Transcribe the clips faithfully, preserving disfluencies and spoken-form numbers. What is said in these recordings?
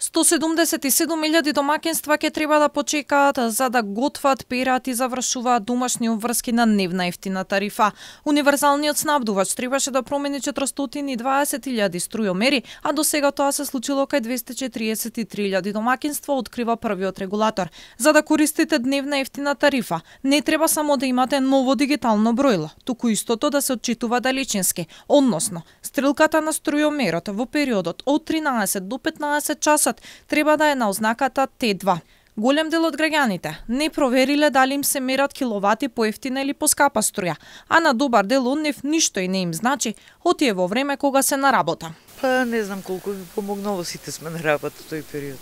сто седумдесет и седум илјади домаќинства ќе треба да почекаат за да готват, перат и завршуваат домашни обврски на дневна ефтина тарифа. Универзалниот снабдувач требаше да промени четиристотини и дваесет илјади струјомери, а до сега тоа се случило кај двесте четириесет и три илјади домаќинства, открива првиот регулатор. За да користите дневна ефтина тарифа, не треба само да имате ново дигитално бројло, туку истото да се отчитува далечински, односно стрелката на струјомерот во периодот од тринаесет до петнаесет часот треба да е на ознаката Т два. Голем дел од граѓаните не провериле дали им се мерат киловати поевтина или поскапа струја, а на добар дел од нив ништо и не им значи, отие во време кога се на работа. Па не знам колку би помогнало, сите сме на работа тој период.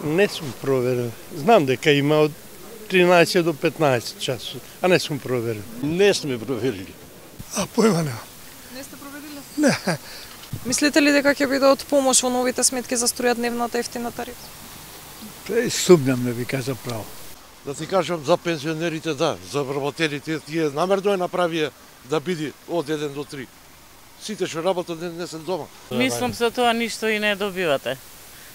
Не сум проверил. Знам дека има од тринаесет до петнаесет часот, а не сум проверил. Не сме проверили. А појма не. Не сте провериле? Не. Мислите ли дека ќе биде од помош во новите сметки за струја дневната ефтина тарифа? Пре сумнам да ви кажа право. Да ти кажам за пензионерите да, за вработелите тие намерно е направија да биде од еден до три. Сите што работат не, не се дома. Мислам за тоа ништо и не добивате.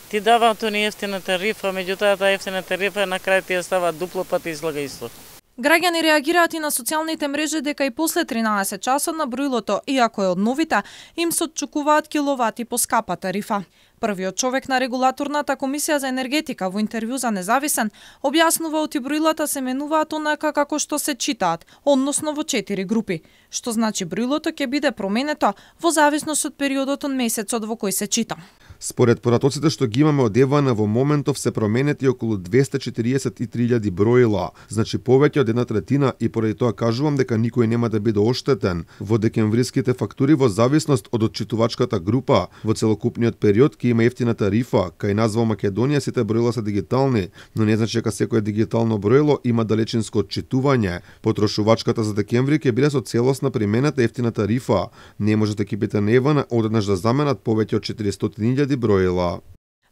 Ти даваат тони ефтина тарифа, меѓутоа таа ефтина тарифа на крај ти ја става дупло пати излага исто. Граѓани реагираат и на социјалните мрежи дека и после тринаесет часот на бројлото, иако е од новите, им се отчукуваат киловати по скапа тарифа. Првиот човек на регулаторната комисија за енергетика во интервју за Независен објаснува оти бројлата се менуваат онака како што се читаат, односно во четири групи, што значи бројлото ќе биде променето во зависност од периодот од месецот во кој се чита. Според поратоците што ги имаме од ЕВН во моментов се променети околу двесте четириесет и три илјади бројла, значи повеќе од една третина, и поради тоа кажувам дека никој нема да биде оштетен. Во декемвриските фактури во зависност од отчитувачката група, во целокупниот период ќе има ефтина тарифа, кај нас во Македонија сите бројла се дигитални, но не значи дека секое дигитално бројло има далечинско отчитување. Потрошувачката за декември ќе биде со целосна применета ефтина тарифа. Не можат екипите на ЕВН одеднаш да заменат повеќе од четиристотини илјади бројла.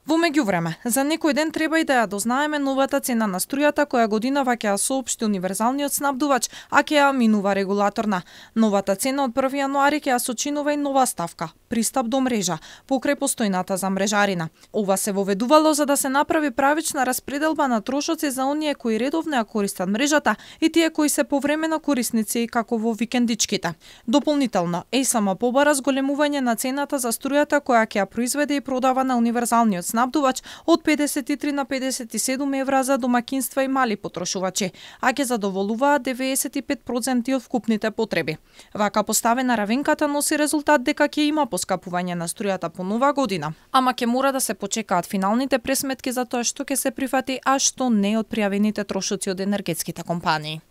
Во меѓувреме, за некој ден треба и да ја дознаеме новата цена на струјата која годинава ќе ја соопшти универзалниот снабдувач, а ќе ја минува регулаторна. Новата цена од први јануари ќе ја сочинува и нова ставка – пристап до мрежа, покрај постојната за мрежарина. Ова се воведувало за да се направи правична распределба на трошоци за оние кои редовно ја користат мрежата и тие кои се повремено корисници како во викендичките. Дополнително, ЕСМ побара зголемување на цената за струјата која ќе ја произведе и продава на универзалниот снабдувач од педесет и три на педесет и седум евра за домаќинства и мали потрошувачи, а ќе задоволуваат деветдесет и пет проценти од вкупните потреби. Вака поставена равенката носи резултат дека ќе има поскапување на струјата по нова година, ама ќе мора да се почекаат финалните пресметки за тоа што ќе се прифати, а што не од пријавените трошоци од енергетските компании.